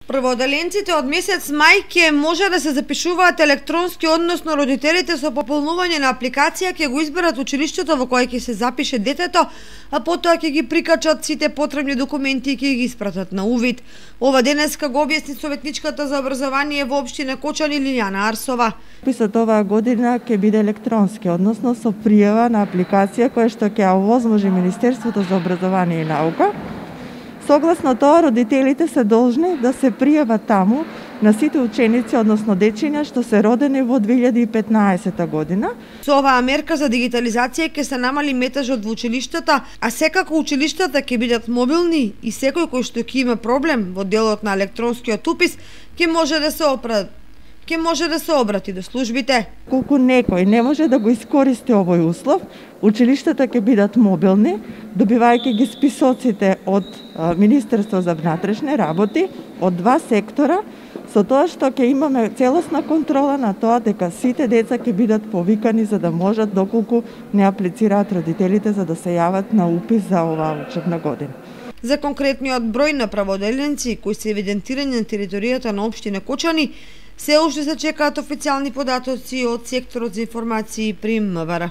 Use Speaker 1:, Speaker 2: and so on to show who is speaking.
Speaker 1: Прводеленците од месец мај ќе може да се запишуваат електронски, односно родителите со пополнување на апликација ќе го изберат училиштето во кое ќе се запише детето, а потоа ќе ги прикачат сите потребни документи и ќе ги испратат на увид. Ова денеска го објасни советничката за образование во општина Кочани Лилјана Арсова.
Speaker 2: Писот оваа година ќе биде електронски, односно со пријава на апликација која што ќе овозможи Министерството за образование и наука. Согласно тоа, родителите се должни да се пријават таму на сите ученици, односно дечиња што се родени во 2015 година.
Speaker 1: Со оваа мерка за дигитализација ќе се намали метажот во училиштата, а секако училиштата ќе бидат мобилни и секој кој што ќе има проблем во делот на електронскиот упис ќе може да се обрати до службите.
Speaker 2: Колку некој не може да го искористи овој услов, училиштата ќе бидат мобилни, добивајќи ги списоците од Министерство за внатрешни работи, од два сектора, со тоа што ќе имаме целосна контрола на тоа дека сите деца ќе бидат повикани за да можат, доколку не аплицираат родителите, за да се јават на упис за оваа учебна година.
Speaker 1: За конкретниот број на праводеленци кои се евидентирани на територијата на општина Кочани, се уште се чекаат официјални податоци од секторот за информации при МВР.